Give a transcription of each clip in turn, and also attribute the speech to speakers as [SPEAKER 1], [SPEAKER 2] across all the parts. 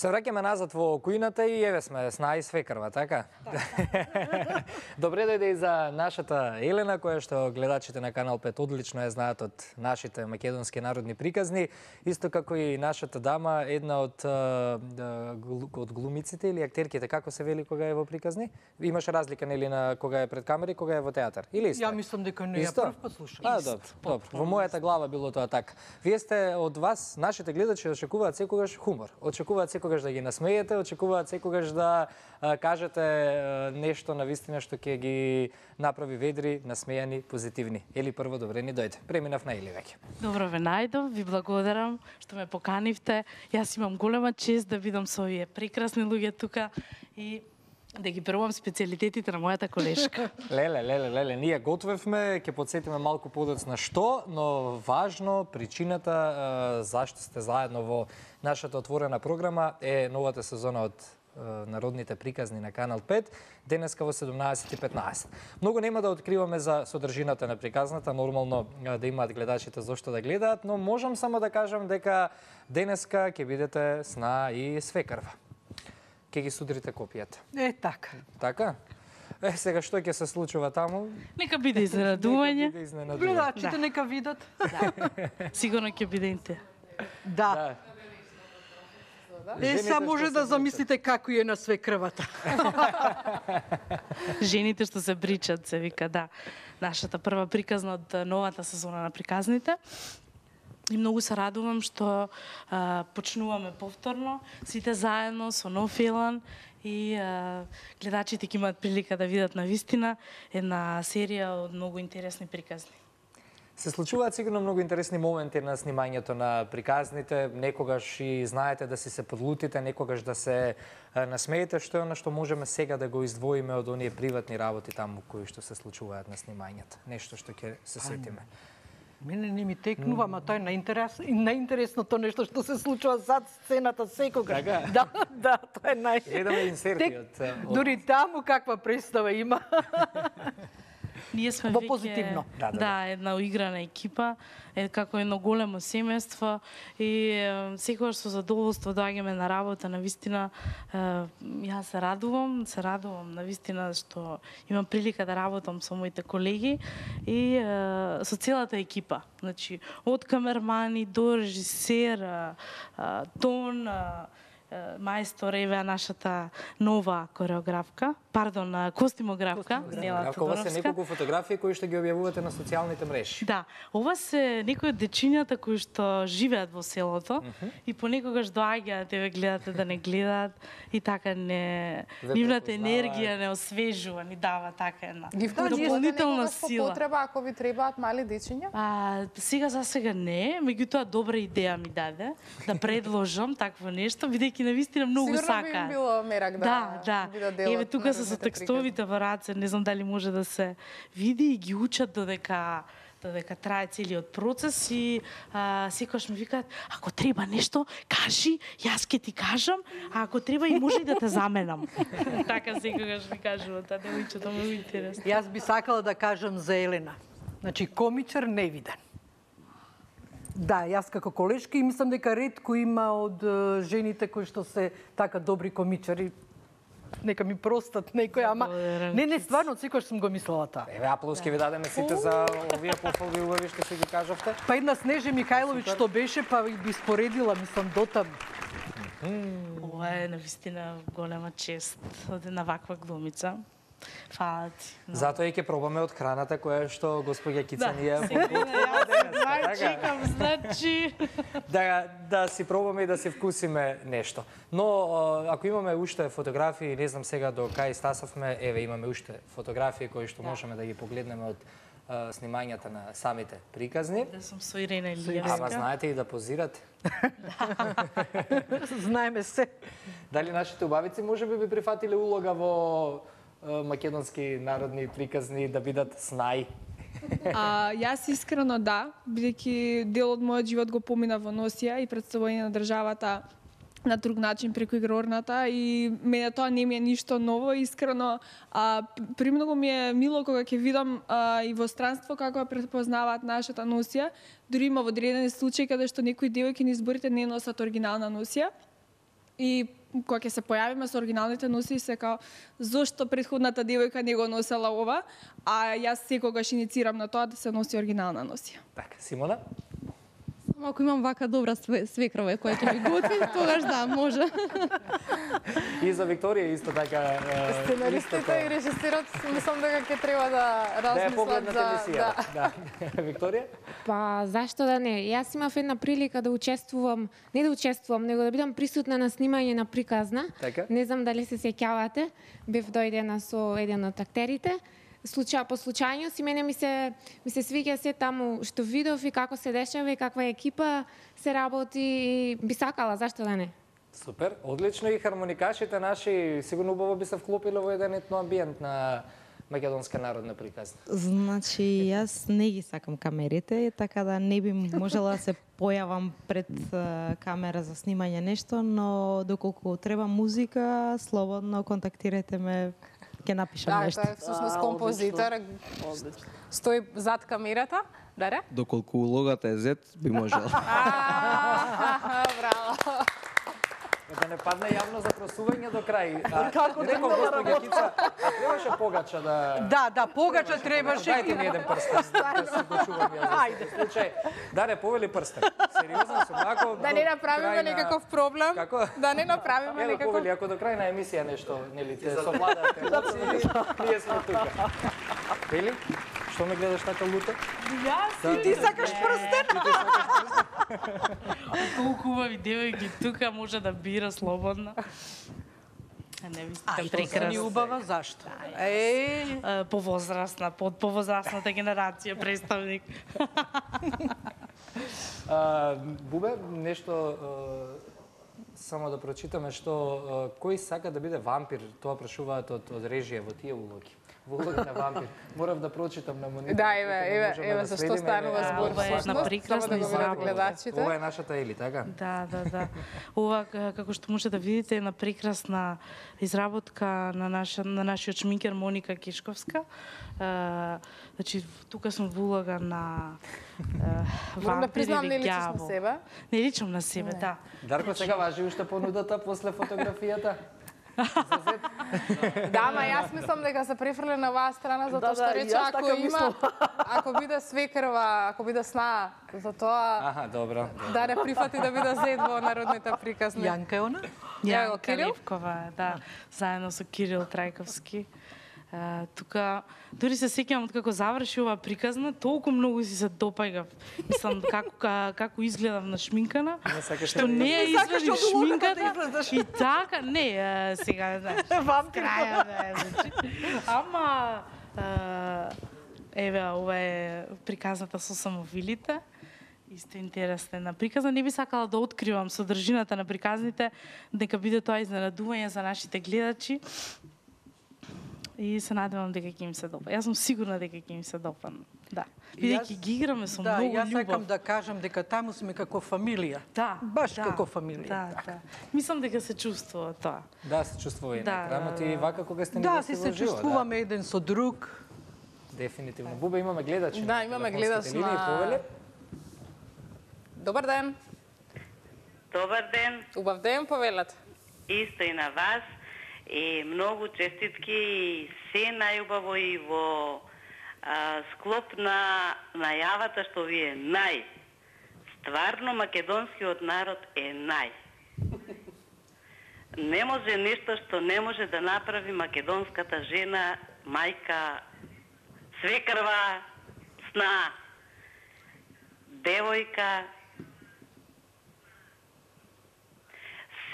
[SPEAKER 1] Се враќаме назад во кујната и еве сме сна и свекрва, така? Добре дојде и за нашата Елена, која што гледачите на Канал 5 одлично ја знаат од нашите македонски народни приказни, исто како и нашата дама, една од глумиците или актерките, како се вели кога е во приказни? Имаше разлика нели на кога е пред камери, кога е во театар, или исто?
[SPEAKER 2] Ја мислам дека не ја прв пат слушам.
[SPEAKER 1] Добро. Во мојата глава било тоа така. Вие сте од вас, нашите гледачи очекуваат секогаш хумор, очекуваат секогаш да ги насмеете, очекуваат секогаш да кажете нешто на вистина што ќе ги направи ведри, насмејани, позитивни. Ели прво добре ни дојде. Преминав на Ели веќе.
[SPEAKER 3] Добро ве најдов, ви благодарам што ме поканивте. Јас имам голема чест да видам со овие прекрасни луѓе тука и да ги пробувам специјалитетите на мојата колешка.
[SPEAKER 1] Леле, ние готвевме, ќе подсетиме малку подоцна што, но важно, причината зашто сте заедно во нашата отворена програма е новата сезона од народните приказни на Канал 5, денеска во 17:15. Многу нема да откриваме за содржината на приказната, нормално да имаат гледачите зошто да гледаат, но можам само да кажам дека денеска ќе бидете сна и свекрва. Ке ги судрите копијата.
[SPEAKER 2] Така.
[SPEAKER 1] Така? Сега што ќе се случува таму?
[SPEAKER 3] Нека биде изненадување.
[SPEAKER 2] Гледачите нека видат.
[SPEAKER 3] Сигурно ќе биде интересно.
[SPEAKER 2] Да. Сега може да замислите како е на свекрвата.
[SPEAKER 3] Жените што се бричат, се вика, да. Нашата прва приказна од новата сезона на приказните. И многу се радувам што почнуваме повторно, сите заедно со нов филм и гледачите ќе имаат прилика да видат на вистина една серија од многу интересни приказни.
[SPEAKER 1] Се случуваат сигурно многу интересни моменти на снимањето на приказните, некогаш и знаете да си се подлутите, некогаш да се насмеете, што е она што можеме сега да го издвоиме од оние приватни работи таму кои што се случуваат на снимањето. Нешто што ќе се сетиме.
[SPEAKER 2] Мене не ми текнува, ама тоа е најинтересното нешто што се случува зад сцената секогаш. Да, тоа е
[SPEAKER 1] Гледаме инсерти од...
[SPEAKER 2] Дури таму каква представа има.
[SPEAKER 3] Ние сме
[SPEAKER 2] во
[SPEAKER 3] веќе,
[SPEAKER 2] позитивно.
[SPEAKER 3] Да, една уиграна екипа, како едно големо семејство и секогаш со задоволство доаѓаме на работа, на вистина јас се радувам на вистина што имам прилика да работам со моите колеги и со целата екипа. Значи, од камермани до режисер, тон, мајстор Еве, нашата нова кореографка, костимографка, Нела
[SPEAKER 1] Ова се
[SPEAKER 3] Тодоровска.
[SPEAKER 1] неколку фотографии кои што ги објавувате на социјалните мрежи.
[SPEAKER 3] Да, ова се некои од дечињата кои што живеат во селото и понекогаш доаѓаат, еве гледате да не гледаат и така нивната енергија не освежува, ни дава така една дополнителна сила.
[SPEAKER 4] Потреба ако ви требаат мали дечиња?
[SPEAKER 3] Сега за сега не, меѓутоа добра идеја ми даде да предложам такво нешто, бидејќи навистина многу сакаат.
[SPEAKER 4] Сигурно би им било мерак да
[SPEAKER 3] бидат дел. Еве тука се со текстовите во раце, не знам дали може да се види и ги учат додека трае целиот процес и секогаш ми викаат, ако треба нешто, кажи, јас ќе ти кажам, а ако треба и може и да те заменам. Така секогаш ми кажуваат, девојчето многу интересно.
[SPEAKER 2] Јас би сакала да кажам за Елена. Значи, комичар невиден. Да, јас како колешка и мислам дека ретко има од жените кои што се така добри комичари. Нека ми простат некој, ама не, стварно, секогаш сум го мислела тоа.
[SPEAKER 1] Еве, аплауски ви дадеме сите за овие пофалби убави што си ги кажавте.
[SPEAKER 2] Па една Снежа Михајловиќ што беше, па би споредила, мислам, дотам.
[SPEAKER 3] Ова е навистина голема чест од една ваква глумица. Фала ти.
[SPEAKER 1] Затоа и ќе пробаме од храната која што господја Кица ни ја
[SPEAKER 3] чекам, значи...
[SPEAKER 1] Да си пробаме и да си вкусиме нешто. Но, ако имаме уште фотографии, не знам сега до кај стасавме, еве имаме уште фотографии кои што можеме да ги погледнеме од снимањата на самите приказни.
[SPEAKER 3] Да сум со Ирена Илиевска.
[SPEAKER 1] Ама знаете и да позирате.
[SPEAKER 2] Знаеме се.
[SPEAKER 1] Дали нашите убавици може би прифатиле улога во македонски народни приказни да бидат снај?
[SPEAKER 5] Јас искрено да, бидејќи дел од мојот живот го помина во носија и представување на државата на друг начин преку игрорната и мене тоа не ми е ништо ново, искрено. Премногу ми е мило кога ќе видам и во странство како ја препознаваат нашата носија. Дури има во одредени случаи каде што некои девојки на изборите не носат оригинална носија. И кога ќе се појавиме со оригиналните носи, се као, зошто претходната девојка не го носела ова, а јас секогаш иницирам на тоа да се носи оригинална носија.
[SPEAKER 1] Така, Симона?
[SPEAKER 6] Ако имам вака добра свекрова која ќе ми готви, тогаш да, може.
[SPEAKER 1] И за Викторија исто така...
[SPEAKER 4] Сценаристите и режисерот мислам дека ќе треба да размислат за...
[SPEAKER 1] Да. Викторија?
[SPEAKER 7] Па, зашто да не? Јас имав една прилика да учествувам, не да учествувам, него да бидам присутна на снимање на приказна.
[SPEAKER 1] Така?
[SPEAKER 7] Не знам дали се сеќавате. Бев дојдена со еден од актерите. По случајност и мене ми се свиѓа се таму што видов и како се дешава и каква екипа се работи и би сакала, зашто да не?
[SPEAKER 1] Супер, одлично и хармоникашите наши сигурно убаво би се вклопиле во еден етноамбиент на македонска народна приказна.
[SPEAKER 8] Значи, јас не ги сакам камерите, така да не би можела да се појавам пред камера за снимање нешто, но доколку треба музика, слободно контактирате ме, ќе напишам нешто.
[SPEAKER 4] Да, тоа е всушност композитор. Стои зад камерата. Даре?
[SPEAKER 9] Доколку улогата е зет, би можела.
[SPEAKER 4] Браво.
[SPEAKER 1] Да не падне јавно запросување до крај. Како да госпоѓа Кица, требаше погача да...
[SPEAKER 2] Да, погача требаше.
[SPEAKER 1] Дайте ми еден прстен, да се го чувам ја за случај. Даре, повели прстен. Сериозно сум, ако...
[SPEAKER 4] Да не направиме некаков проблем.
[SPEAKER 1] Како?
[SPEAKER 4] Да не направиме некаков...
[SPEAKER 1] Повели, ако до крај на емисија нешто, нели, те совладате емоции, ние сме тука. Вели? Што ме гледаш така лута?
[SPEAKER 2] И ти сакаш прстен?
[SPEAKER 3] Толку убави девојки тука може да бира слободно. Не ви сте прекрасна.
[SPEAKER 2] Ни убава, зашто?
[SPEAKER 3] Повозрасна, под повозрасната генерација представник.
[SPEAKER 1] Бубе, нешто само да прочитаме што кој сака да биде вампир, тоа прашуваат од режија во тие улоги. Во улога на вампир. Морав да прочитам на монитор.
[SPEAKER 4] Да, еве зашто станува збор.
[SPEAKER 3] Ова е една прекрасна изработка.
[SPEAKER 1] Ова е нашата Ели, така?
[SPEAKER 3] Да. Ова, како што може да видите, е една прекрасна изработка на нашиот шминкер Моника Кишковска. Значи, тука сум во улога на
[SPEAKER 4] Морам да признам, не
[SPEAKER 3] вампир или
[SPEAKER 4] личиш на
[SPEAKER 3] ѓавол.
[SPEAKER 4] себе?
[SPEAKER 3] Не личам на себе, да.
[SPEAKER 1] Дарко, сега важи уште понудата после фотографијата?
[SPEAKER 4] Да, ма јас мислам дека се префрле на оваа страна затоа што рече ако биде свекрва, ако биде сна, за тоа
[SPEAKER 1] Аха, добро.
[SPEAKER 4] да не прифати да биде зет во народните приказни.
[SPEAKER 2] Јанка е она?
[SPEAKER 3] Јанка
[SPEAKER 4] Кирил?
[SPEAKER 3] Левкова, да, заедно со Кирил Трајковски. Тука, дури се сеќавам од како заврши оваа приказна, толку многу си се допаѓав. Мислам, како изгледав на шминкана, што не ја извадив шминката и така, не, сега, знаеш, краја, да, значи. Ама, еве, ова е приказната со самовилите. Исто интересна една приказна. Не би сакала да откривам содржината на приказните, дека биде тоа изненадување за нашите гледачи. И се надевам дека ќе им се допа. Јас сум сигурна дека ќе им се допадне. Да. Бидејќи ги играме со многу љубов.
[SPEAKER 2] Да, јас сакам да кажам дека таму сме како фамилија.
[SPEAKER 3] Да.
[SPEAKER 2] Баш како фамилија.
[SPEAKER 3] Да. Мислам дека се чувствува тоа.
[SPEAKER 1] Да, се чувствува и
[SPEAKER 3] Да,
[SPEAKER 1] на екранот и вака кога сте ни
[SPEAKER 2] Да,
[SPEAKER 1] гости
[SPEAKER 2] си
[SPEAKER 1] во
[SPEAKER 2] се
[SPEAKER 1] живо,
[SPEAKER 2] чувствуваме еден со друг.
[SPEAKER 1] Дефинитивно. Бубе, имаме гледачи.
[SPEAKER 4] Да, имаме гледач на... Добар ден.
[SPEAKER 10] Добар ден.
[SPEAKER 4] Убав ден, повелат.
[SPEAKER 10] Исто и на вас. И многу честитки и се најубаво и во склоп на најавата што ви е нај. Стварно македонскиот народ е нај. Не може нешто што не може да направи македонската жена, мајка, свекрва, сна, девојка.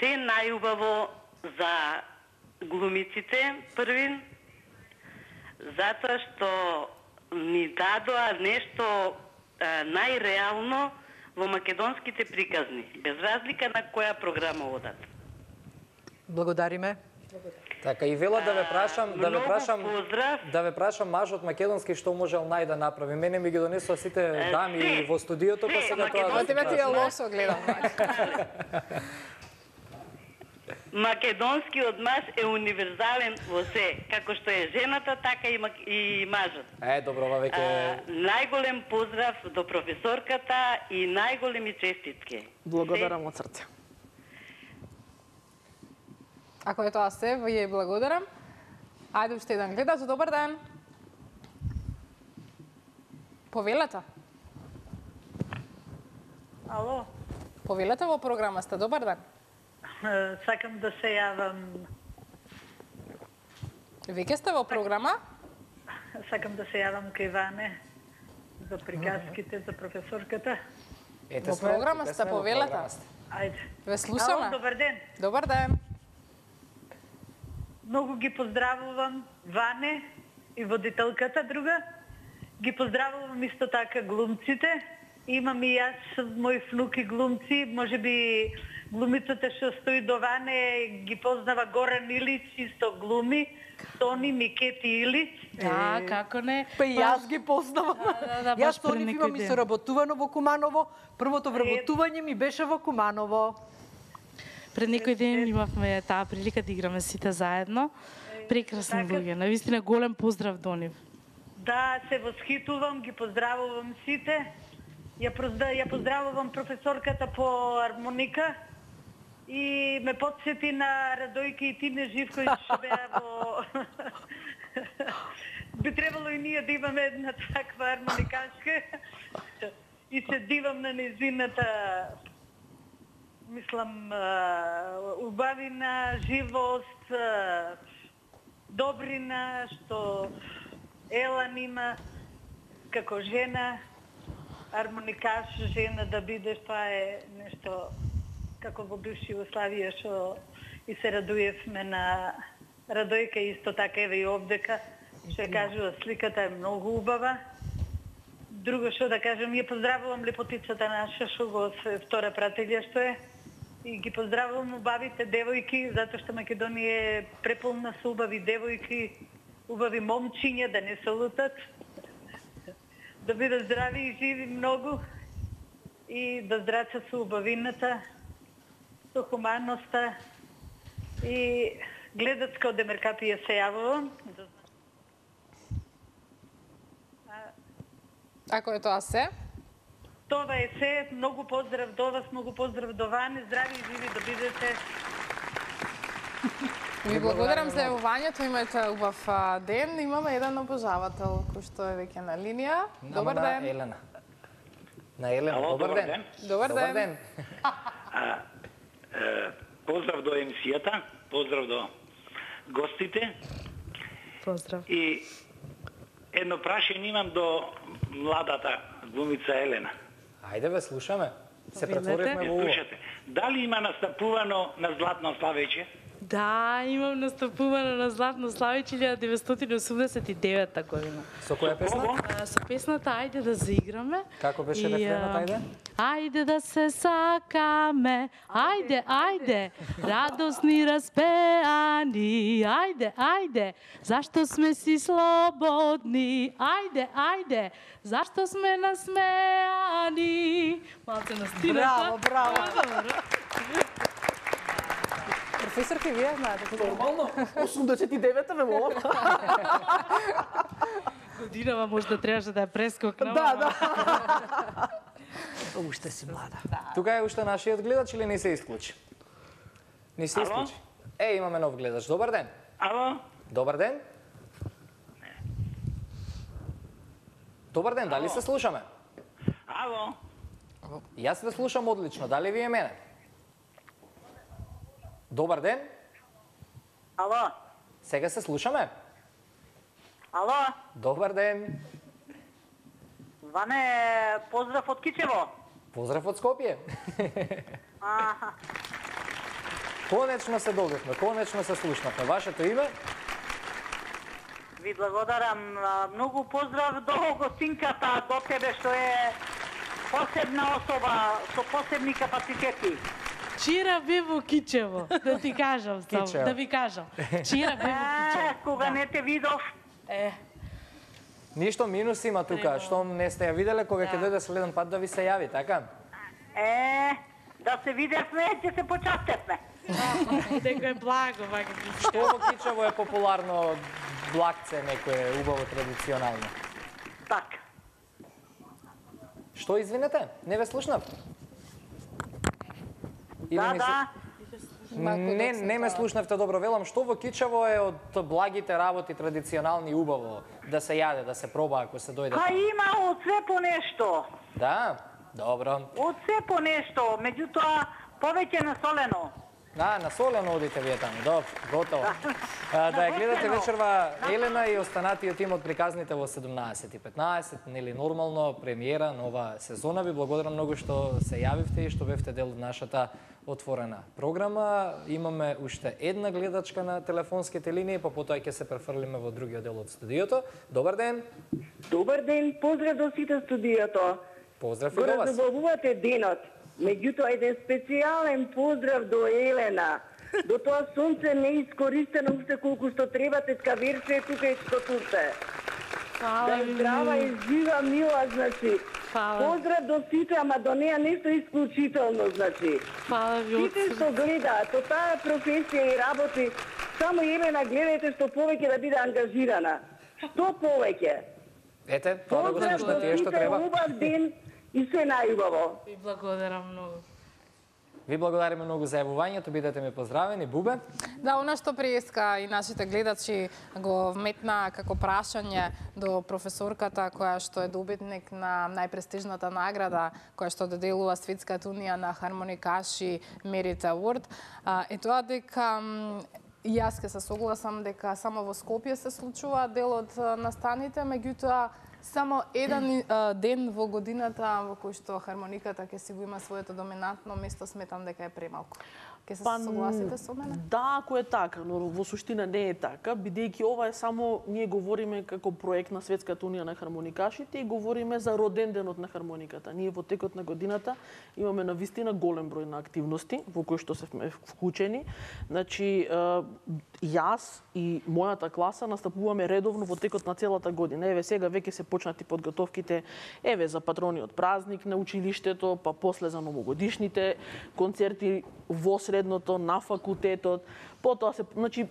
[SPEAKER 10] Се најубаво за глумиците првин, затоа што ни дадоа нешто најреално во македонските приказни, без разлика на која програма одат.
[SPEAKER 2] Благодариме.
[SPEAKER 1] Така и вела да ве прашам мажот македонски што можел нај да направи. Мене ми ги донесоа сите дами во студиото, па сега тоа
[SPEAKER 4] Тебе ти е лошо гледам.
[SPEAKER 10] Македонскиот маж е универзален во се, како што е жената, така и мажот.
[SPEAKER 1] Добро, ова веќе...
[SPEAKER 10] Најголем поздрав до професорката и најголеми честитки.
[SPEAKER 4] Благодарам од срце. Ако е тоа се, ви ја благодарам. Ајде уште еден гледач, добар ден. Повелете.
[SPEAKER 11] Ало,
[SPEAKER 4] Повелете во програма сте, добар ден.
[SPEAKER 11] сакам да се јавам,
[SPEAKER 4] Веќе сте во програма?
[SPEAKER 11] сакам да се јавам кај Ване за приказките за професорката.
[SPEAKER 1] Ете
[SPEAKER 4] Во
[SPEAKER 1] сме,
[SPEAKER 4] програма
[SPEAKER 1] ете
[SPEAKER 4] сте,
[SPEAKER 1] сме во
[SPEAKER 4] повелете.
[SPEAKER 1] програма сте.
[SPEAKER 11] Ајде.
[SPEAKER 4] Ве слушаме.
[SPEAKER 11] Ало, добар ден.
[SPEAKER 4] Добар ден.
[SPEAKER 11] Многу ги поздравувам Ване и водителката друга. Ги поздравувам исто така глумците. Имам и јас мои внуки глумци, можеби глумицата што стои до Ване ги познава Горан Илич, исто глуми, Тони Микети Илич.
[SPEAKER 3] Да, како не?
[SPEAKER 2] Па и јас ги познавам.
[SPEAKER 3] Да,
[SPEAKER 2] Јас
[SPEAKER 3] баш
[SPEAKER 2] со
[SPEAKER 3] пред
[SPEAKER 2] нив
[SPEAKER 3] некој
[SPEAKER 2] имам и
[SPEAKER 3] ден.
[SPEAKER 2] соработувано во Куманово. Првото вработување ми беше во Куманово.
[SPEAKER 3] Пред некој ден имавме таа прилика да играме сите заедно. Прекрасни луѓе, навистина голем поздрав до нив.
[SPEAKER 11] Да, се восхитувам, ги поздравувам сите. Ја поздравувам професорката по армоника и ме подсети на Радојка и Тине Живковиќ што беа во... Би требало и ние да имаме една таква армоникашка и се дивам на незината, мислам, убавина, живост, добрина, што Елан има како жена, армоникаш, жена да бидеш, тоа е нешто како во бивша Југославија што и се радуевме на Радојка исто така еве и овдека, што ја кажува сликата е многу убава. Друго што да кажам, ја поздравувам лепотицата наша што го се втора прателја што е и ги поздравувам убавите девојки, затоа што Македонија е преполна со убави девојки, убави момчиња да не се лутат. Да бидат здрави и живи многу и да здрачат со убавината, со хуманноста и гледачка од Демеркапија се јавувам.
[SPEAKER 4] Ако е тоа се?
[SPEAKER 11] Тоа е се, многу поздрав до вас, многу поздрав до Ване, здрави и живи да бидете.
[SPEAKER 4] Ви благодарам за јавувањето, имајте убав ден. Имаме еден обожавател кој што е веќе на линија. Добар ден.
[SPEAKER 1] На Елена. На Елена,
[SPEAKER 12] Ало,
[SPEAKER 1] добар
[SPEAKER 12] добар
[SPEAKER 1] ден.
[SPEAKER 12] ден.
[SPEAKER 4] Добар ден.
[SPEAKER 12] Поздрав до емисијата, поздрав до гостите.
[SPEAKER 3] Поздрав.
[SPEAKER 12] И едно прашање имам до младата глумица Елена.
[SPEAKER 1] Ајде ве слушаме. Се
[SPEAKER 3] Повелете.
[SPEAKER 1] претворивме во уво.
[SPEAKER 12] Слушате, дали има настапувано на Златно славеќе?
[SPEAKER 3] Да, имам настапувано на Златно славење 1989 година.
[SPEAKER 1] Со која песна?
[SPEAKER 3] Со песната Ајде да заиграме.
[SPEAKER 1] Како беше
[SPEAKER 3] И,
[SPEAKER 1] рефренот, ајде?
[SPEAKER 3] Ајде да се сакаме, ајде, ајде, радосни распеани, ајде, ајде, зашто сме си слободни, ајде, ајде, зашто сме насмеани. Малце настината.
[SPEAKER 2] Браво, браво.
[SPEAKER 4] Професорки, вие знаете тоа?
[SPEAKER 2] Нормално. 89-та ме молам.
[SPEAKER 3] Годинава можда требаше да ја прескокнам.
[SPEAKER 2] Да, да. Уште си млада.
[SPEAKER 1] Тука е уште нашиот гледач или не се исклучи? Не се
[SPEAKER 12] Ало?
[SPEAKER 1] исклучи. Имаме нов гледач. Добар ден.
[SPEAKER 12] Ало?
[SPEAKER 1] Добар ден. Добар ден, дали се слушаме?
[SPEAKER 12] Ало?
[SPEAKER 1] Јас ве слушам одлично, дали вие мене? Добар ден.
[SPEAKER 11] Ало?
[SPEAKER 1] Сега се слушаме?
[SPEAKER 11] Ало?
[SPEAKER 1] Добар ден.
[SPEAKER 11] Ване, поздрав од Кичево.
[SPEAKER 1] Поздрав од Скопје.
[SPEAKER 11] Аха.
[SPEAKER 1] Конечно се добивме, конечно се слушнавме. Вашето име?
[SPEAKER 11] Ви благодарам. Многу поздрав до гостинката, до тебе што е посебна особа со посебни капацитети.
[SPEAKER 3] Вчера бе во Кичево, да ти кажам само,
[SPEAKER 1] Кичево.
[SPEAKER 3] да ви кажам. Вчера бе во Кичево.
[SPEAKER 11] Кога не те видов,
[SPEAKER 1] Ништо минус има тука, што не сте ја виделе, кога ќе дојде следен пат да ви се јави, така?
[SPEAKER 11] да се видевме, ќе се почастевме.
[SPEAKER 3] Некој благо, вака.
[SPEAKER 1] Што во Кичево е популарно блакце, некое убаво традиционално?
[SPEAKER 11] Така.
[SPEAKER 1] Што извинете? Не ве слушнав. Или
[SPEAKER 11] Да,
[SPEAKER 1] не
[SPEAKER 11] да.
[SPEAKER 1] Не ме слушнавте добро, велам, што во Кичево е од благите работи традиционални убаво да се јаде, да се проба ако се дојде?
[SPEAKER 11] Има од се по нешто.
[SPEAKER 1] Да, добро.
[SPEAKER 11] Од се по нешто, меѓутоа повеќе на солено.
[SPEAKER 1] На солено одите вие таму, добро, готово. Да ја гледате вечерва Елена и останатиот тим од приказните во 17:15, нели нормално премиера нова сезона. Ви благодарам многу што се јавивте и што бевте дел од нашата отворена програма. Имаме уште една гледачка на телефонските линии, па потоа ќе се префрлиме во другиот дел од студиото. Добар ден.
[SPEAKER 13] Добар ден, поздрав до сите студиото.
[SPEAKER 1] Поздрав и до вас.
[SPEAKER 13] Забавувате денот. Меѓутоа, еден специјален поздрав до Елена. До тоа сонце не искористено уште колку што треба, тетка Верче е тука и што турте. Да е здрава и жива, мила, значи. Поздрав до сите, ама до неа нешто исклучително, значи. Сите што гледаат, со таа професија и работи, само Елена гледајте што повеќе да биде ангажирана. Што повеќе?
[SPEAKER 1] Ете, тоа да го слушнете, што треба.
[SPEAKER 13] Убав ден и се најубаво.
[SPEAKER 3] Ви благодарам многу.
[SPEAKER 1] Ви благодариме многу за јавувањето, бидете ми поздравени. Бубе?
[SPEAKER 4] Да, она што преска и нашите гледачи го вметна како прашање до професорката која што е добитник на најпрестижната награда која што доделува Светската унија на хармоникаши Merit Award, е тоа дека јас ке се согласам дека само во Скопје се случува дел од настаните, меѓутоа само еден ден во годината во кој што хармониката ќе си го има своето доминантно место, сметам дека е премалку. Ке се согласите со мене?
[SPEAKER 14] Да, ако е така, но во суштина не е така, бидејќи ова е само, ние говориме како проект на Светската унија на хармоникашите и говориме за роден денот на хармониката. Ние во текот на годината имаме навистина голем број на активности во кои што сме вклучени. Значи, јас и мојата класа настапуваме редовно во текот на целата година. Еве сега веќе се почнати подготовките, еве за патрониот празник на училиштето, па после за новогодишните концерти во средното, на факултетот, потоа се, значи,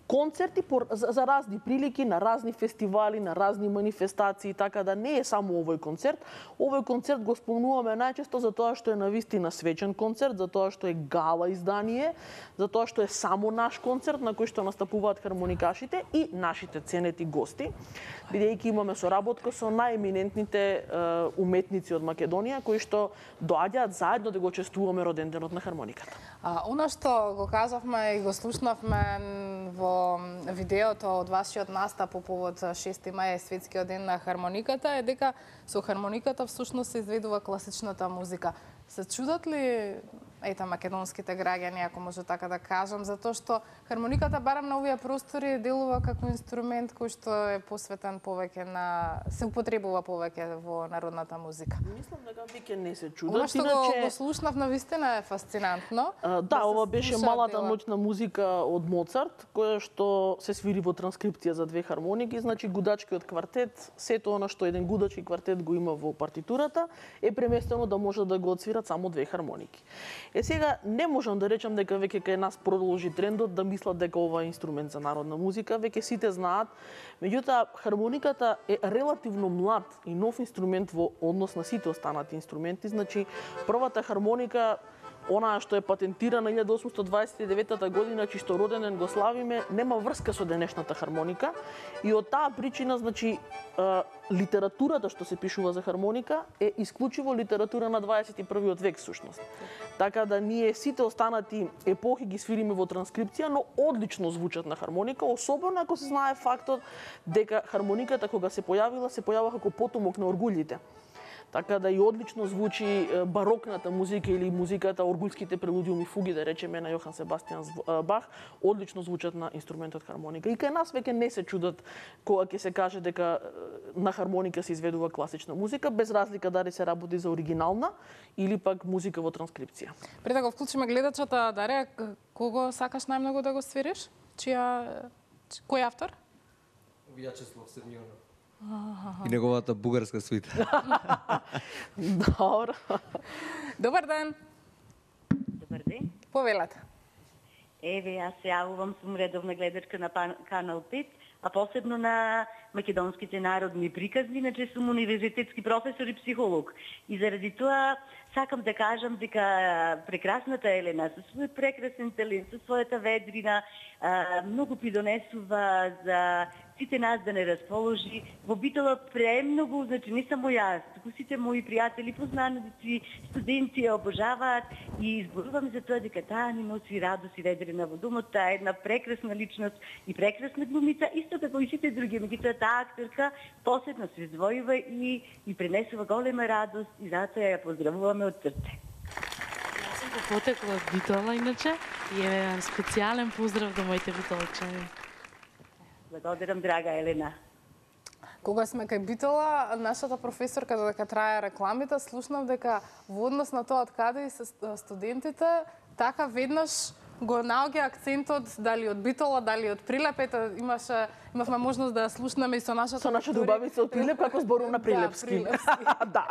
[SPEAKER 14] концерти за разни прилики, на разни фестивали, на разни манифестации, така да не е само овој концерт. Овој концерт го спомнуваме најчесто за тоа што е навистина свечен концерт, за тоа што е гала издание, за тоа што е само наш концерт на кој што настапуваат хармоникашите и нашите ценети гости, бидејќи имаме соработка со најеминентните уметници од Македонија кои што доаѓаат заедно да го чествуваме роден денот на хармониката.
[SPEAKER 4] Она што го кажавме и го слушнавме во видеото од вашиот настап по повод 6 мај светскиот ден на хармониката е дека со хармониката всушност се изведува класичната музика. Се чудат ли македонските граѓани, ако може така да кажам, затоа што хармониката барам на овие простори делува како инструмент кој што е посветен повеќе на се употребува повеќе во народната музика.
[SPEAKER 14] Мислам дека веќе не се чудат.
[SPEAKER 4] Она што го слушнав навистина е фасцинантно.
[SPEAKER 14] Да, ова беше малата ноќна музика од Моцарт, која што се свири во транскрипција за 2 хармоники, значи гудачкиот квартет, сето она што еден гудачки квартет го има во партитурата, е преместено да може да го отсвират само 2 хармоники. Сега не можам да речам дека веќе кај нас продолжи трендот да мислат дека ова е инструмент за народна музика, веќе сите знаат. Меѓутоа, хармониката е релативно млад и нов инструмент во однос на сите останати инструменти. Значи, првата хармоника, онаа што е патентирана 1829 година, чисто роден ден го славиме, нема врска со денешната хармоника и од таа причина, значи, литературата што се пишува за хармоника е исклучиво литература на 21 век всушност. Така да ние сите останати епохи ги свириме во транскрипција, но одлично звучат на хармоника, особено ако се знае фактот дека хармониката кога се појавила како потомок на оргулите. Така да и одлично звучи барокната музика или музиката, оргулските прелудиуми, фуги, да речеме, на Јохан Себастијан Бах, одлично звучат на инструментот хармоника. И кај нас веќе не се чудат кога ќе се каже дека на хармоника се изведува класична музика, без разлика дали се работи за оригинална или пак музика во транскрипција.
[SPEAKER 4] Пред да го вклучиме гледачата, Дарија, кого сакаш најмногу да го свириш? Кој автор?
[SPEAKER 9] Вјачеслав Сермионов. И неговата бугарска свита.
[SPEAKER 14] Добро.
[SPEAKER 4] Добар ден.
[SPEAKER 15] Добар ден.
[SPEAKER 4] Повелете.
[SPEAKER 15] Еве, јас се јавувам, сум редовна гледачка на Канал 5, а посебно на
[SPEAKER 16] македонските народни приказни, иначе сум универзитетски професор и психолог. И заради тоа сакам да кажам дека прекрасната Елена со својот прекрасен талент, со својата ведрина, многу придонесува за сите нас да не расположи. Во Битола премногу, значи не само јас, туку сите мои пријатели, познаници, студенти ја обожаваат и изборувам за тоа дека таа ни носи радост и ведрина во домот. Таа е една прекрасна личност и прекрасна глумица, исто како и сите други. Меѓутоа таа актерка посебно се издвојува и пренесува голема радост и затоа ја поздравуваме од срце.
[SPEAKER 3] Јас сум потекла од Битола, иначе, и е специјален поздрав до моите битолчани.
[SPEAKER 16] Благодарам, драга Елена.
[SPEAKER 4] Кога сме кај Битола, нашата професорка, додека трае рекламите, слушнав дека во однос на тоа од каде и се студентите, така веднаш го наоѓа акцентот дали од Битола, дали од Прилеп. Ето, имавме можност да слушнеме и со нашата
[SPEAKER 14] убавица од Прилеп како зборува на прилепски.
[SPEAKER 4] Да.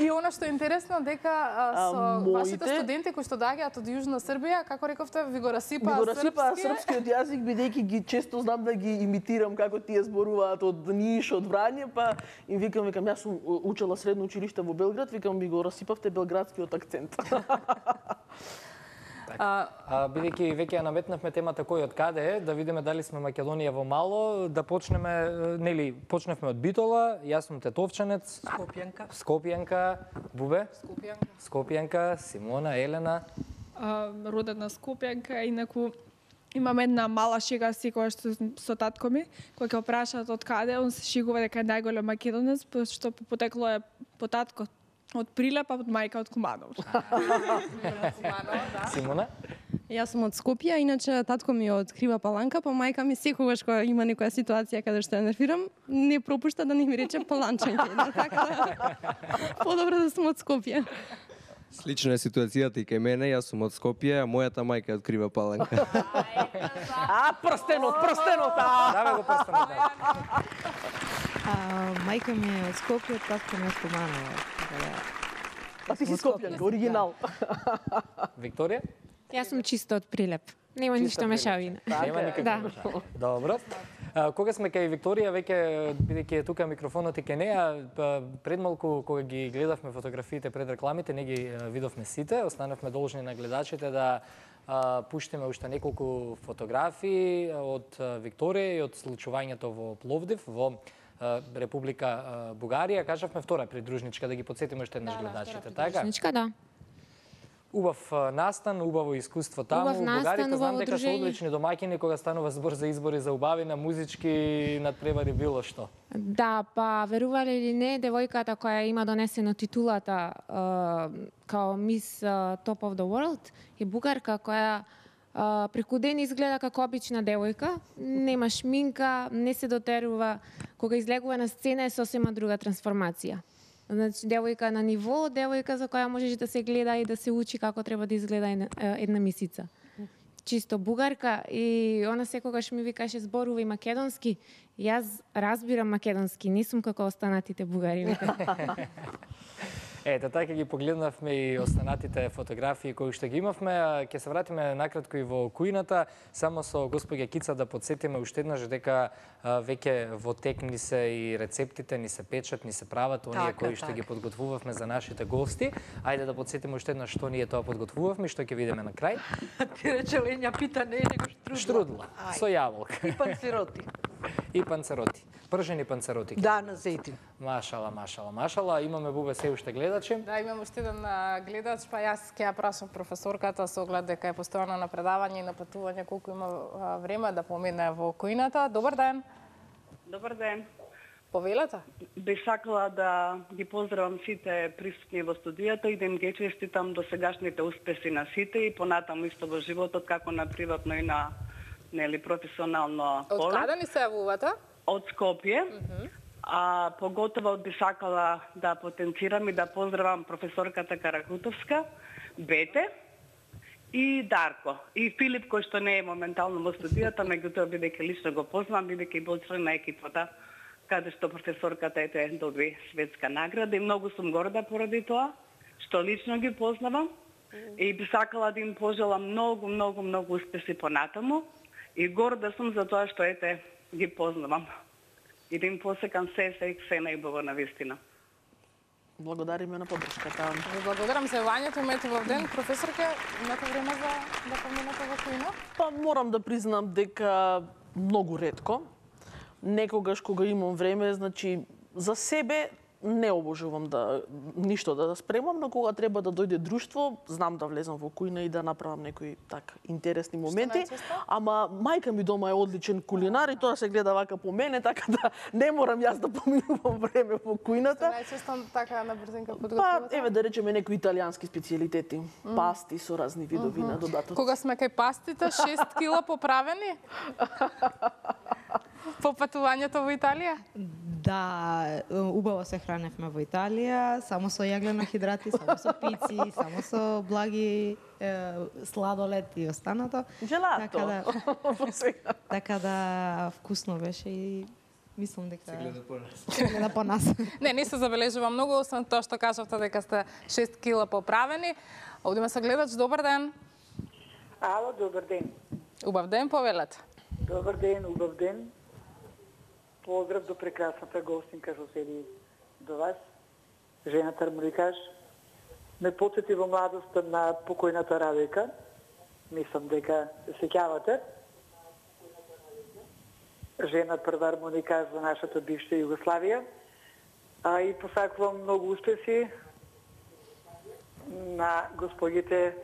[SPEAKER 4] И она што е интересно дека со вашите студенти кои што доаѓаат од Јужна Србија, како рековте, ви го расипаа
[SPEAKER 14] српскиот јазик, бидејќи ги често знам да ги имитирам како тие зборуваат од Ниш, од Врање, па им викам, јас сум учела средно училиште во Белград, викам, ми го расипавте белградскиот акцент.
[SPEAKER 1] Бидејќи веќе ја наметнавме темата кој од каде е, да видиме дали сме Македонија во мало, да почнеме, нели, почневме од Битола, јас сум тетовчанец, Скопјанка, Бубе, Скопјанка, Симона, Елена.
[SPEAKER 5] Родена Скопјанка, инаку имам една мала шега секогаш со татко ми, кој ќе прашаат од каде, он се шегува дека е најголем македонец, што по потекло е по татко од Прилеп, а од мајка од Куманово.
[SPEAKER 1] Симона?
[SPEAKER 6] Јас сум од Скопје, иначе татко ми од Крива Паланка, па мајка ми секогаш кога има некоја ситуација каде што ја нервирам, не пропушта да не ми рече Паланчанке. Така подобро да сум од Скопје.
[SPEAKER 9] Слична е ситуацијата и кај мене, јас сум од Скопје, а мојата мајка е од Крива Паланка.
[SPEAKER 14] Прстенот!
[SPEAKER 1] Даве го прстенот.
[SPEAKER 8] Мајка ми е од Скопје, татко ми е од Куманово.
[SPEAKER 14] А ти си Скопјанка, оригинал.
[SPEAKER 1] Викторија?
[SPEAKER 7] Јас сум чисто од Прилеп. Нема ништо мешавина.
[SPEAKER 1] Нема никаква мешавина. Добро. Кога сме кај Викторија, веќе бидејќи е тука микрофонот и кај неа, пред малку кога ги гледавме фотографиите пред рекламите, не ги видовме сите, останавме должни на гледачите да пуштиме уште неколку фотографии од Викторија и од случувањето во Пловдив, во Република Бугарија. Кажавме втора придружничка, да ги подсетиме уште еднаш гледачите, така?
[SPEAKER 7] Придружничка, да.
[SPEAKER 1] Убав настан, убаво искуство таму. Бугарите знам дека се одлични домаќини кога станува збор за избори за убавина, музички надпревари било што.
[SPEAKER 7] Да, па верували или не, девојката која има донесено титулата као Miss Top of the World е бугарка која преку ден изгледа како обична девојка, нема шминка, не се дотерува, кога излегува на сцена е сосема друга трансформација. Значи, девојка на ниво, девојка за која можеш да се гледа и да се учи како треба да изгледа една мисица. Чисто бугарка и она секогаш ми викаше зборува и македонски. Јас разбирам македонски, не сум како останатите бугари.
[SPEAKER 1] Ете, така ги погледнавме и останатите фотографии кои што ги имавме. Ќе се вратиме накратко и во кујната, само со господја Кица да подсетиме уште еднаш дека веќе во тек ни се и рецептите, ни се печат, ни се прават оние кои што ги подготвувавме за нашите гости. Ајде да подсетиме уште еднаш што ние тоа подготвувавме и што ќе видиме на крај.
[SPEAKER 2] Ти рече Ленја пита не е него штрудла.
[SPEAKER 1] Штрудла, со јаболка.
[SPEAKER 2] И панцероти.
[SPEAKER 1] И панцероти. Пржени панцероти.
[SPEAKER 2] Да, на зејтин.
[SPEAKER 1] Машала. Имаме Бубе се уште гледачи.
[SPEAKER 4] Да, имам уште еден гледач, па јас ќе ја прашам професорката со оглед дека е постојано на предавање и на патување колку има време да помине во кујната. Добар ден.
[SPEAKER 17] Добар ден.
[SPEAKER 4] Повелете?
[SPEAKER 17] Би сакала да ги поздравам сите присутни во студијата и да им ги честитам до сегашните успеси на сите и понатаму исто во животот, како на приватно и на професионално поле.
[SPEAKER 4] Од каде ни се јавувате?
[SPEAKER 17] Од Скопје. А поготово би сакала да потенцирам и да поздравам професорката Каракутовска, Бете и Дарко. И Филип, кој што не е моментално во студијата, меѓутоа бидејќи лично го познавам, бидејќи бил член на екипата, каде што професорката доби светска награда и многу сум горда поради тоа, што лично ги познавам. И би сакала да им пожелам многу успеси понатаму и горда сум за тоа што ги познавам. и да им посекам се најубаво на вистина.
[SPEAKER 14] Благодариме на поддршката.
[SPEAKER 4] Ви благодарам за јавањето, имате во ден. Професорке, имате време за да поминете во Куина?
[SPEAKER 14] Па морам да признам дека многу ретко. Некогаш кога имам време, значи за себе не обожувам да ништо да спремам, но кога треба да дојде друштво, знам да влезам во кујна и да направам некои така интересни моменти. Ама мајка ми дома е одличен кулинар и тоа се гледа вака по мене, така да не морам јас да поминувам време во кујната.
[SPEAKER 4] Најчесто така на брзинка подготвувате?
[SPEAKER 14] Па, еве да речеме некои италијански специјалитети, пасти со разни видови на додатоци.
[SPEAKER 4] Кога сме кај пастите, 6 кила поправени? По патувањето во Италија?
[SPEAKER 8] Да, убаво се храневме во Италија, само со јаглено хидрати, само со пици, само со благи сладолед и останато.
[SPEAKER 14] Желато.
[SPEAKER 8] Така да вкусно беше и мислам дека
[SPEAKER 9] се
[SPEAKER 8] гледа по нас.
[SPEAKER 4] Не се забележува многу, освен тоа што кажавте дека сте 6 кила поправени. Овде ме се гледач, добар ден.
[SPEAKER 11] Ало, добар ден.
[SPEAKER 4] Убав ден, повелете.
[SPEAKER 11] Добар ден, убав ден. Поздрав до прекрасната гостинка што седи до вас, жената армоникаш. Ме потсети во младоста на покојната Радојка. Мислам дека се сеќавате. Жена прва армоникаш за нашата бивша Југославија. А и посакувам многу успеси на господите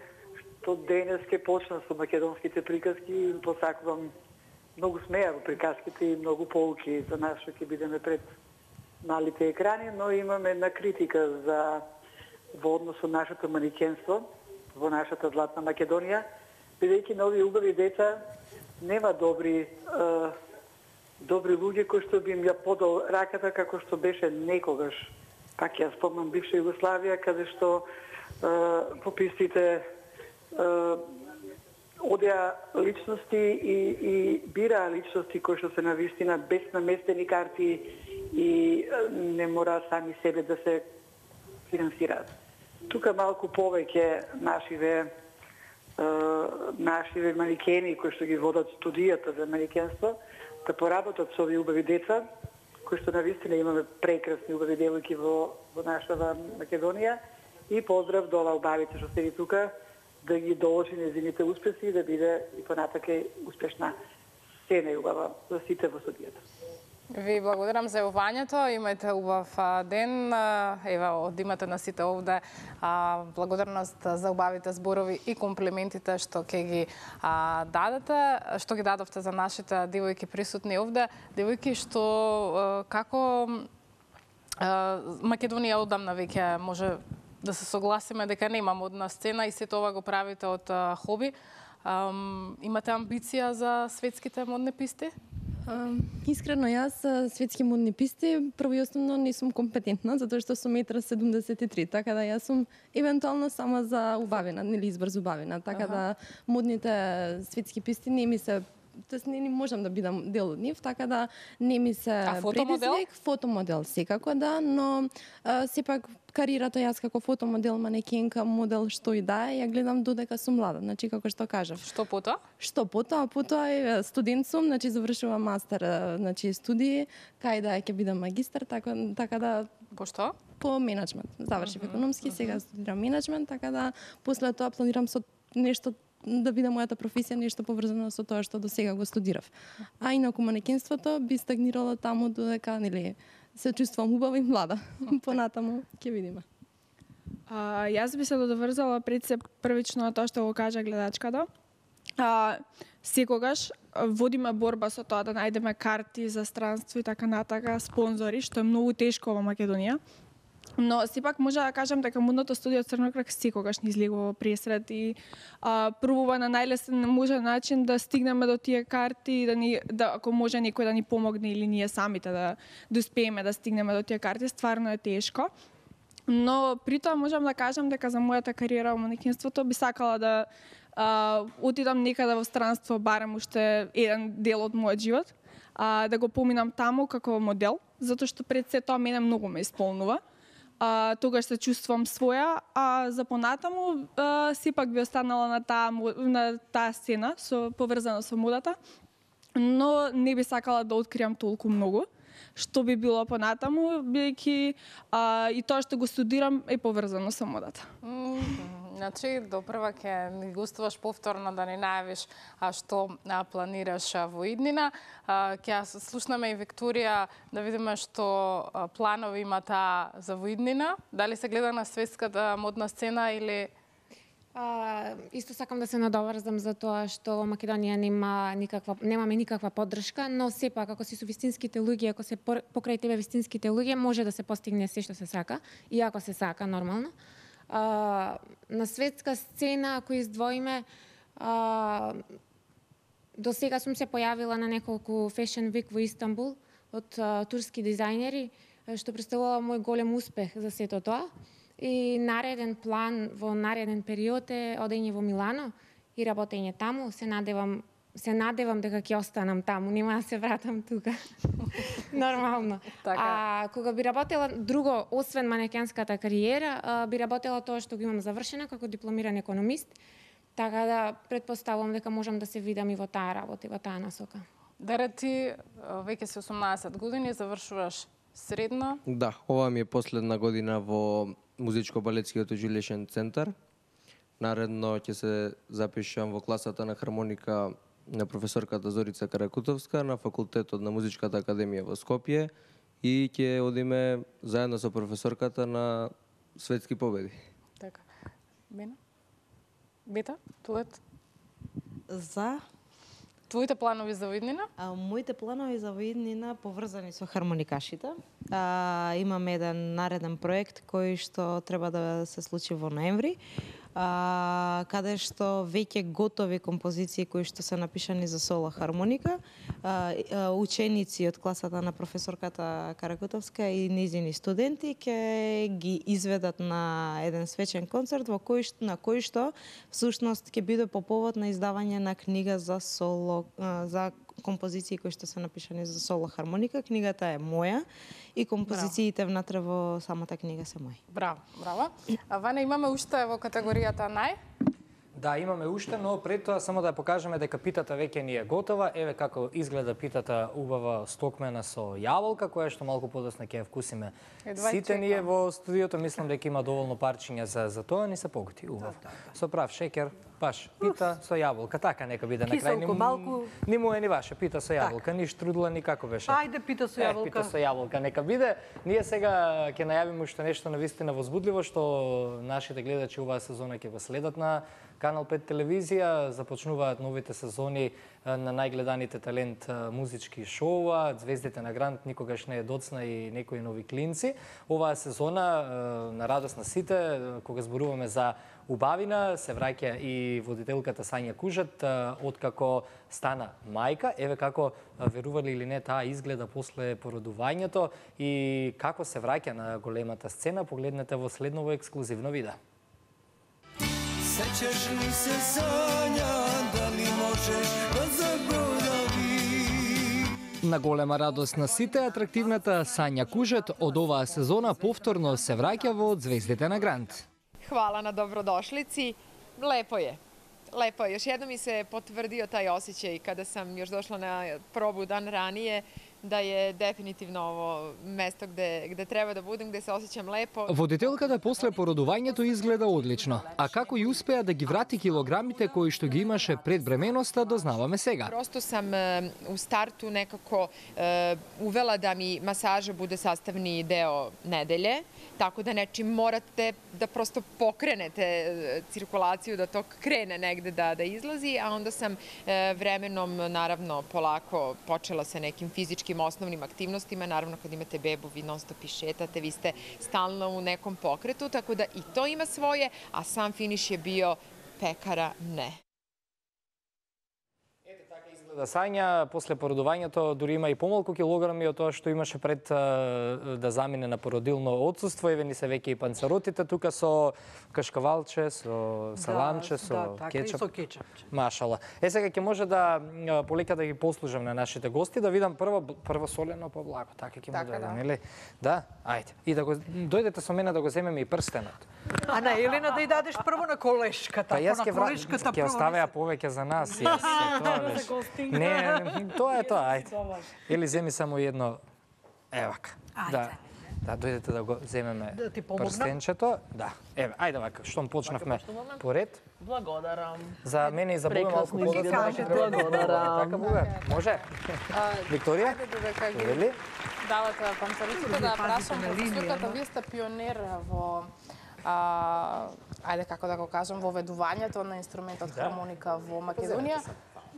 [SPEAKER 11] што денес ке почнат со македонските приказки и им посакувам многу смеја во приказките и многу поуки за нас што ќе бидеме пред малите екрани, но имаме една критика за во однос со нашето манекенство во нашата златна Македонија, бидејќи на овие убави деца нема добри луѓе кои што би им ја подал раката како што беше некогаш. Пак ја спомнам бивша Југославија, каде што по пистите одеа личности и бираа личности кои што се навистина без наместени карти и не мора сами себе да се финансираат. Тука малку повеќе нашиве манекени кои што ги водат студијата за манекенство да поработат со овие убави деца, кои што навистина имаме прекрасни убави девојки во нашата Македонија, и поздрав до албавите што седи тука, да ги доложи незините успеси и да биде и понатака успешна се најубава за сите во студијата.
[SPEAKER 4] Ви благодарам за јавањето, имајте убав ден. Ева, од имате на сите овде благодарност за убавите зборови и комплиментите што ќе ги дадете, што ги дадовте за нашите девојки присутни овде. Девојки што како Македонија одамна веќе може да се согласиме дека нема модна сцена и сето ова го правите од хоби. Имате амбиција за светските модни писти?
[SPEAKER 6] Искрено, јас светски модни писти прво и основно не сум компетентна, затоа што сум 1,73 м, така да јас сум евентуално само за убавина, нели избор за убавина, така да модните светски писти не ми се, тоест не можам да бидам дел од нив, така да не ми се предизвик. Фотомодел секако да, но сепак кариерата јас како фотомодел, манекенка, модел, што и да е, ја гледам додека сум млада, значи како што кажав.
[SPEAKER 4] Што потоа?
[SPEAKER 6] Што потоа? Потоа е студент сум, значи завршувам мастер, значи студии, кај да ќе бидам магистар, така да.
[SPEAKER 4] По што?
[SPEAKER 6] По менеджмент. Завршив економски, сега студирам менеджмент, така да после тоа планирам со нешто да биде мојата професија нешто поврзано со тоа што до сега го студирав. А инаку манекенството би стагнирало таму додека нели се чувствувам убава и млада. Понатаму ќе видиме.
[SPEAKER 5] Јас би се додоврзала пред се првично на тоа што го кажа гледачката. Секогаш водиме борба со тоа да најдеме карти за странство и така натака, спонзори, што е многу тешко во Македонија. Но сепак може да кажам дека модното студио Црноград секогаш ни излегува пресред и пробува на најлесен можен начин да стигнеме до тие карти и ако може некој да ни помогне или ние самите да успееме да стигнеме до тие карти, стварно е тешко. Но при тоа можам да кажам дека за мојата кариера во манекенството би сакала да отидам некаде во странство, барем уште еден дел од мојот живот, да го поминам таму како модел, затоа што пред се тоа мене многу ме исполнува. Тогаш се чувствувам своја, а за понатаму сепак би останала на таа сцена, поврзана со модата, но не би сакала да откриам толку многу. што би било понатаму, бидејќи и тоа што го студирам е поврзано со модата.
[SPEAKER 4] Значи, допрва ќе ни гостуваш повторно да ни најавиш што планираш во иднина. Ќе слушнаме и Викторија да видиме што планови има таа за во иднина. Дали се гледа на светската модна сцена или...
[SPEAKER 7] Исто сакам да се надоврзам за тоа што во Македонија немаме никаква поддршка, но сепак ако си со вистинските луѓе, ако се покрај тебе вистинските луѓе, може да се постигне се што се сака, и ако се сака нормално. На светска сцена, ако издвоиме, до сега сум се појавила на неколку Fashion Week во Истанбул од турски дизајнери, што представува мој голем успех за сето тоа. И нареден план во нареден период е одење во Милано и работење таму. Се надевам дека ќе останам таму, нема да се вратам тука. Нормално. Кога би работела друго, освен манекенската кариера, би работела тоа што го имам завршена како дипломиран економист, така да предпоставувам дека можам да се видам и во таа работа, и во таа насока.
[SPEAKER 4] Даре, ти веќе си 18 години, завршуваш средно?
[SPEAKER 9] Да, ова ми е последна година во Музичко-балетскиот училишен центар. Наредно ќе се запишам во класата на хармоника на професорката Зорица Каракутовска на факултетот на Музичката академија во Скопје и ќе одиме заедно со професорката на светски победи.
[SPEAKER 4] Така. Бета, Тулет?
[SPEAKER 8] За
[SPEAKER 4] твоите планови за виднина?
[SPEAKER 8] Моите планови за виднина поврзани со хармоникашите. Имаме еден нареден проект кој што треба да се случи во ноември, каде што веќе готови композиции кои што се напишани за соло хармоника, ученици од класата на професорката Каракутовска и низини студенти ќе ги изведат на еден свечен концерт на кој што всушност ќе биде по повод на издавање на книга за соло, за композиции кои што се напишани за соло хармоника. Книгата е моја и композициите внатре во самата книга се мои.
[SPEAKER 4] Браво, браво. Ване, имаме уште во категоријата нај?
[SPEAKER 1] Да, имаме уште, но пред тоа само да покажеме дека питата веќе ни е готова. Еве како изгледа питата убава стокмена со јаболка, која што малку подоцна ќе ја вкусиме. Сите ние во студиото, мислам дека има доволно парчиња за тоа, ни се поготи убав. Со прав шекер, баш пита со јаболка, така нека биде на крај.
[SPEAKER 2] Киселко малку.
[SPEAKER 1] Ни му е ни ваше, пита со јаболка, ни штрудла ни како беше.
[SPEAKER 2] Ајде пита со јаболка.
[SPEAKER 1] Пита со јаболка нека биде. Ние сега ќе најавиме уште нешто навистина возбудливо што нашите гледачи оваа сезона ќе го следат на Канал 5 телевизија. Започнуваат новите сезони на најгледаните талент музички шоуа, Звездите на Грант никогаш не е доцна и некои нови клинци. Оваа сезона на радост на сите, кога зборуваме за убавина, се враќа и водителката Сања Кужат, откако стана мајка. Еве како, верували или не, таа изгледа после породувањето и како се враќа на големата сцена, погледнете во следново ексклузивно видео.
[SPEAKER 18] Sećaš li se Sanja, da li možeš da zaboraviš?
[SPEAKER 1] На голема радост на сите, атрактивната Сања Кужат од оваа сезона повторно се враќа во Звездите на Грант.
[SPEAKER 19] Hvala na dobrodošlici. Lepo je. Lepo je. Još jednom mi se potvrdio taj osjećaj kada sam još došla na probu dan ranije, da je definitivno ovo mesto gde treba da budem, gde se osjećam lepo.
[SPEAKER 1] Водителката после породувањето изгледа одлично, а како и успеа да ги врати килограмите кои што ги имаше пред бременоста, дознаваме сега.
[SPEAKER 19] Prosto sam u startu nekako uvela da mi masaža bude sastavni deo nedelje, tako da nečim morate da prosto pokrenete cirkulaciju, da to krene negde da izlazi, a onda sam vremenom, naravno, polako počela sa nekim fizičkim osnovnim aktivnostima. Naravno, kad imate bebu, vi non stop i šetate, vi ste stalno u nekom pokretu, tako da i to ima svoje, a sam finiš je bio pekara ne.
[SPEAKER 1] Сања, после породувањето, дури има и помалку килограми од тоа што имаше пред да замине на породилно отсуство. Еве ни се веќе и панцеротите тука со кашкавалче, со саламче, со кетчап. Машала. Сега ќе може да полека да ги послужам на нашите гости, да видам прво солено по благо. Така ќе му дадам, нели? Да, ајде. И да го дојдете со мене да го земеме и прстенот.
[SPEAKER 2] А на Елена да ја дадеш прво на колешката,
[SPEAKER 1] па јас ќе оставеа повеќе за нас.
[SPEAKER 2] Не,
[SPEAKER 1] тоа е тоа, ајде. Или земи само едно Ева вака. Да, дојдете да го земеме
[SPEAKER 2] Да ти помогнам?
[SPEAKER 1] прстенчето. Да. Еве, ајде вака, штом почнавме по ред.
[SPEAKER 14] Благодарам.
[SPEAKER 1] За мене и за Буга малку подоцна.
[SPEAKER 14] Благодарам.
[SPEAKER 1] Така Буга, може? Викторија? Вели?
[SPEAKER 4] Давате панцариците да прашам професорката, вие сте пионер во ајде како да го кажам, во ведувањето на инструментот хармоника во Македонија.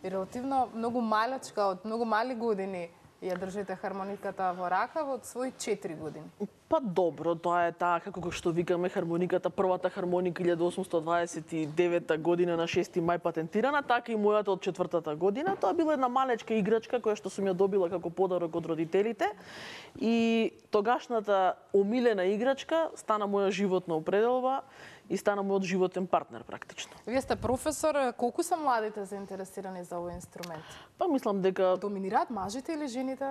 [SPEAKER 4] И релативно многу малечка, од многу мали години ја држите хармониката во рака од своји 4 години.
[SPEAKER 14] Па добро, тоа е таа како што викаме хармониката, првата хармоника 1829 година на 6 мај патентирана, така и мојата од 4-та година. Тоа била една малечка играчка која што сум ја добила како подарок од родителите и тогашната омилена играчка стана моја животна определба и стана мојот животен партнер практично.
[SPEAKER 4] Вие сте професор, колку се младите заинтересирани за овој инструмент?
[SPEAKER 14] Па мислам дека
[SPEAKER 4] доминираат мажите или жените?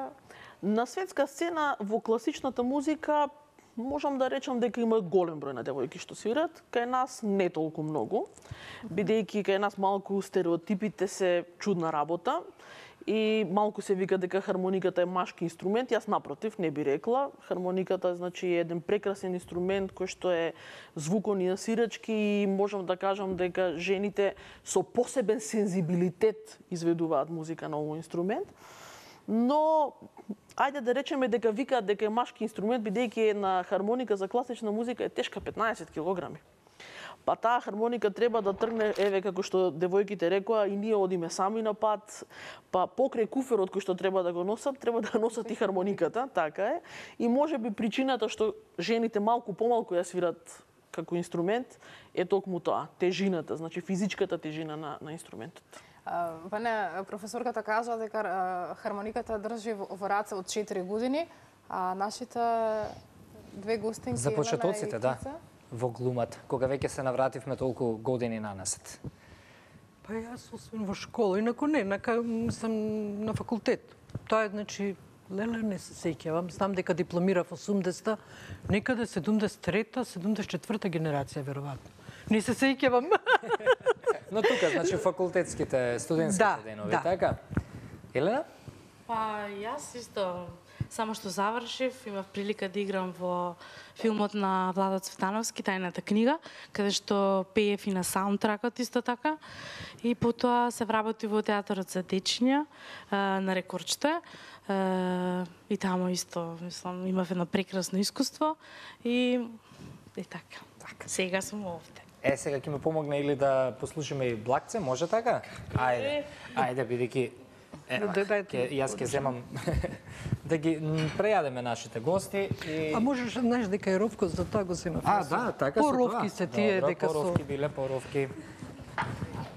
[SPEAKER 14] На светска сцена во класичната музика можам да речам дека има голем број на девојки што свират, кај нас не толку многу, бидејќи кај нас малку стереотипите се чудна работа и малку се вика дека хармониката е машки инструмент. Јас напротив не би рекла. Хармониката значи е еден прекрасен инструмент кој што е звукон и насирачки и можам да кажам дека жените со посебен сензибилитет изведуваат музика на овој инструмент. Но ајде да речеме дека викаат дека е машки инструмент бидејќи една хармоника за класична музика е тешка 15 килограми. Па таа хармоника треба да тргне, еве како што девојките рекоа, и ние одиме сами на пат, па покрај куферот кој што треба да го носат, треба да носат и хармониката, така е. И можеби причината што жените малку помалку ја свират како инструмент е токму тоа, тежината, значи физичката тежина на инструментот.
[SPEAKER 4] Ване, професорката кажа дека хармониката држи во раце од 4 години, а нашите две гостинки
[SPEAKER 1] за почетоците, да, во глумата, кога веќе се навративме толку години нанасет.
[SPEAKER 2] Па јас освен во школа, инаку не, сам на факултет. Тоа е, значи, леле не се сеќавам, знам дека дипломирав 80-та, некаде 73-та, 74-та генерација, веројатно. Не се сеќавам.
[SPEAKER 1] Но тука, значи, факултетските, студентските денови, така? Елена?
[SPEAKER 3] Па, јас исто, само што завршив, имав прилика да играм во филмот на Владо Цветановски, Тајната книга, каде што пеев и на саундтракот исто така. И потоа се вработи во театарот за дечиња на Рекорчте. И тамо исто, мислам, имав едно прекрасно искуство и така. Сега сум овде.
[SPEAKER 1] Сега ќе ме помогне или да послушаме и Блакце, може така? Ајде, бидејќи јас ќе земам да ги прејадеме нашите гости и
[SPEAKER 2] А можеш знаеш дека е ровко, за тоа го земав.
[SPEAKER 1] Да, така
[SPEAKER 2] поровки се тие дека со
[SPEAKER 1] поровки биле поровки.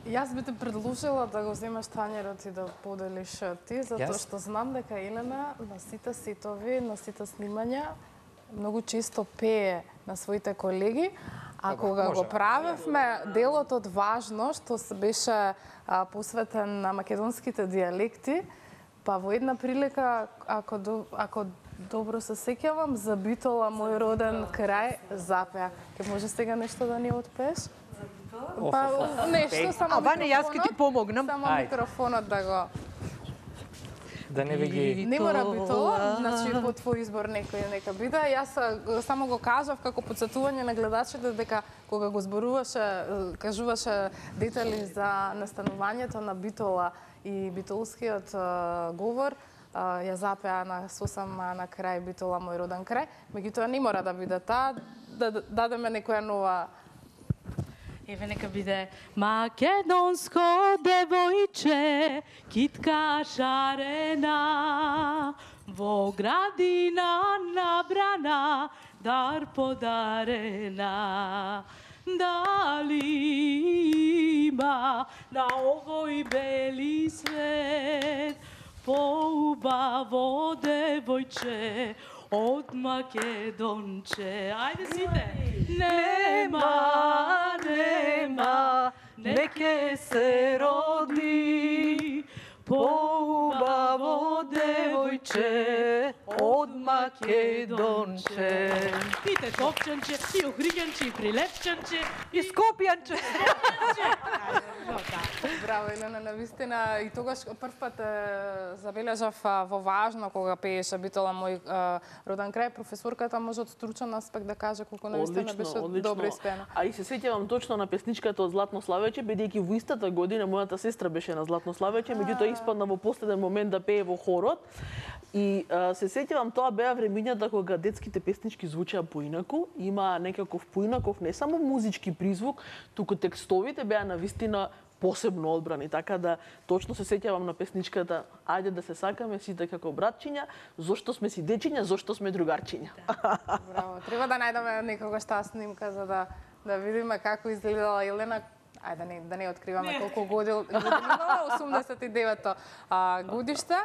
[SPEAKER 4] Јас би те предложила да го земеш тањерот и да поделиш ти, затоа што знам дека Елена на сите сетови, на сите снимања многу често пее на своите колеги, а кога го правевме делот од Важно, што се беше посветен на македонските дијалекти, па во една прилика, ако добро се сеќавам, за Битола, мој роден крај, запеа. Ке може сега нешто да ни отпееш? Па нешто, само
[SPEAKER 2] Ване, јас ќе ти помогнам.
[SPEAKER 4] Само микрофонот да го...
[SPEAKER 1] Да не ги...
[SPEAKER 4] Не мора Битола, значи по твој избор некој нека биде. Јас само го кажав како подсетување на гледачите дека кога го зборуваше, кажуваше детали за настанувањето на Битола и битолскиот говор, ја запеа на сосам на крај Битола, мој роден крај. Меѓутоа не мора да биде таа, да дадеме некоја нова.
[SPEAKER 3] Еве нека биде македонско девојче, китка шарена, во градина набрана, дар подарена. Дали има на овој бели свет поубаво девојче од Македонче? Ајде сите! Нема, нема, неке се роди поубаво девојче од Македонче. Пите Топчанче, и Охриѓанче, и Прилепчанче,
[SPEAKER 2] и Скопјанче.
[SPEAKER 4] Браво, Елена, навистина. И тогаш прв пат забележав во важно кога пееше Битола мој роден крај. Професорката може од стручен аспект да каже колку навистина беше добро испеано.
[SPEAKER 14] А и се сеќавам точно на песничката од Златно славече, бидејќи во истата година мојата сестра беше на Златно славече, меѓутоа испадна во последен момент да пее во хорот. И се сеќавам, тоа беа времињата кога детските песнички звучеа поинаку, има некаков поинаков не само музички призвук, туку текстовите беа навистина посебно одбрани, така да точно се сеќавам на песничката "Ајде да се сакаме сите како братчиња, зошто сме си дечиња, зошто сме другарчиња".
[SPEAKER 4] Браво, треба да најдеме некогаш таа снимка за да видиме како изгледала Елена. Ајде да не откриваме колку години имала, 89-то годиште.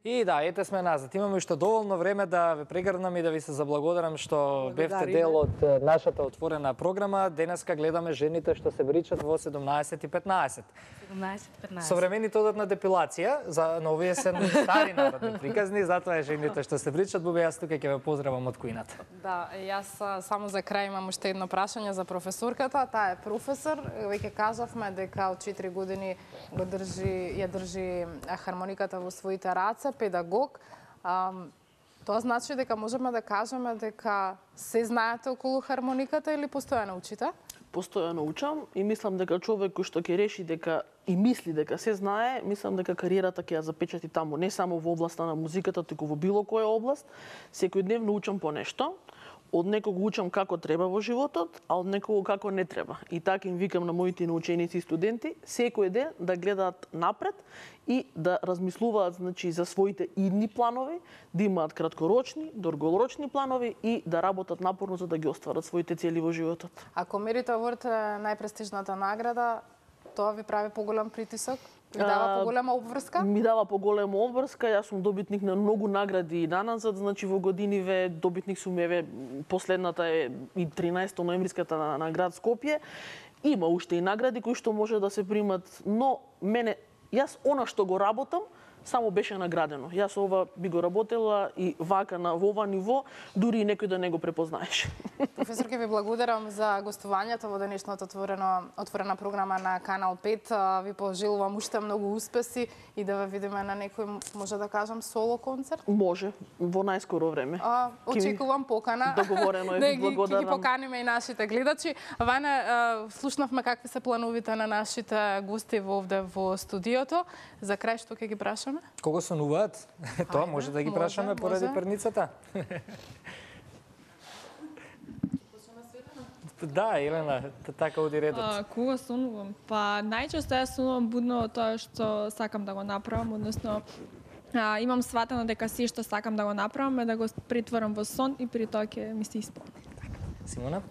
[SPEAKER 1] И да, ете сме назад. Имаме уште доволно време да ве прегрнам и да ви се заблагодарам што бевте дел од нашата отворена програма. Денеска гледаме жените што се бричат во 17:15.
[SPEAKER 3] 17:15.
[SPEAKER 1] Современите одат на депилација, но овие се стари народни приказни, затоа е жените што се бричат. Буби, јас тука ќе ве поздравам од кујната.
[SPEAKER 4] Да, јас само за крај имам уште едно прашање за професорката. Таа е професор. Веќе кажавме дека од 4 години ја држи хармониката во своите раце, педагог. Тоа значи дека можеме да кажеме дека се знаете околу хармониката или постојано учите?
[SPEAKER 14] Постојано учам и мислам дека човек кој што ќе реши дека и мисли дека се знае, мислам дека кариерата ќе ја запечати таму, не само во областа на музиката, туку во било која област. Секојдневно учам по нешто. Од некого учам како треба во животот, а од некого како не треба. И така им викам на моите наученици и студенти, секој ден да гледаат напред и да размислуваат, значи, за своите идни планови, да имаат краткорочни, долгорочни планови и да работат напорно за да ги остварат своите цели во животот.
[SPEAKER 4] Ако Merit Award е најпрестижната награда, тоа ви прави поголем притисок? Ви дава поголема обврска?
[SPEAKER 14] Ми дава поголема обврска. Јас сум добитник на многу награди и наназад, значи во годиниве добитник сум еве последната е и 13 ноемвриската на град Скопје. Има уште и награди кои што може да се примат, но јас она што го работам само беше наградено. Јас ова би го работела и вака во ова ниво, дури и некој да не го препознаеше.
[SPEAKER 4] Професор, ќе ви благодарам за гостувањето во денешната отворена програма на Канал 5. Ви пожелувам уште многу успеси и да ве видиме на некој, може да кажам, соло концерт?
[SPEAKER 14] Може, во најскоро време.
[SPEAKER 4] Очекувам покана.
[SPEAKER 14] Договорено е, благодарам.
[SPEAKER 4] Ќе ги поканиме и нашите гледачи. Ваня, слушнавме какви се плановите на нашите гости овде во студиото. За крај што ќе ги прашаме?
[SPEAKER 1] Кого сонуваат? Тоа може да ги прашаме поради перницата. Да, Елена, така оди редот.
[SPEAKER 5] Кога сонувам? Па најчесто ја сонувам будно тоа што сакам да го направам, односно имам сватено дека се што сакам да го направам е да го претворам во сон и при тоа ќе ми се исполни.
[SPEAKER 1] Симона?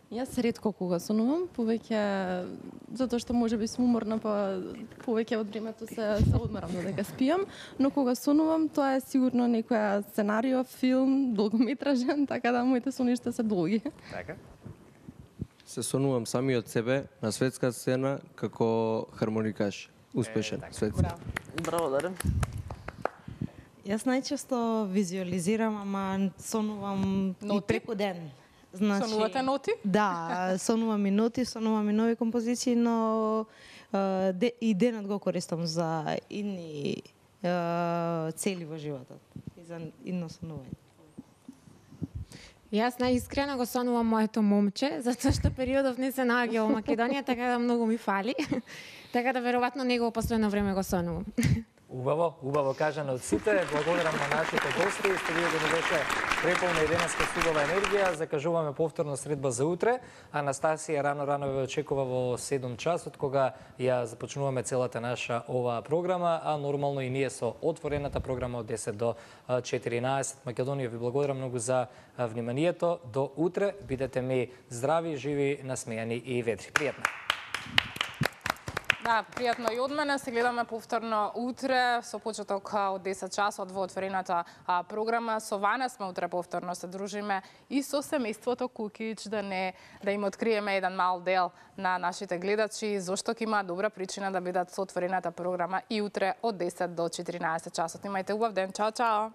[SPEAKER 6] Јас ретко кога сонувам, повеќе затоа што можеби сум уморна, па повеќе од времето се одмарам додека спијам, но кога сонувам тоа е сигурно некоја сценарио, филм, долгометражен, така да моите соништа се долги.
[SPEAKER 1] Така.
[SPEAKER 9] Се сонувам самиот себе на светска сцена како хармоникаш. Успешен светски.
[SPEAKER 14] Браво, Дарен.
[SPEAKER 8] Јас најчесто визуализирам, ама сонувам и преку ден.
[SPEAKER 4] Значи, сонувате ноти?
[SPEAKER 8] Да, сонувам и ноти, сонувам и нови композиции, но и денот го користам за идни цели во животот и за идно сонување.
[SPEAKER 7] Јас најискрено го сонувам моето момче, затоа што периодов не се наоѓа во Македонија, така да многу ми фали. Така да веројатно него последно време го сонувам.
[SPEAKER 1] Убаво кажано од сите. Благодарам на нашите гости. Студиото ни беше преполна и денеска субава енергија. Закажуваме повторно средба за утре. Анастасија рано ве очекува во 7 часот, кога ја започнуваме целата наша оваа програма, а нормално и ние со отворената програма од 10 до 14. Македонија, ви благодарам многу за вниманието. До утре. Бидете ми здрави, живи, насмејани и ведри. Пријатно.
[SPEAKER 4] Да, пријатно и од мене. Се гледаме повторно утре со почеток од 10 часот во отворената програма. Со Вана сме утре повторно се дружиме и со семејството Кукич да им откриеме еден мал дел на нашите гледачи зошто ќе има добра причина да бидат со отворената програма и утре од 10 до 14 часот. Имајте убав ден. Чао, чао.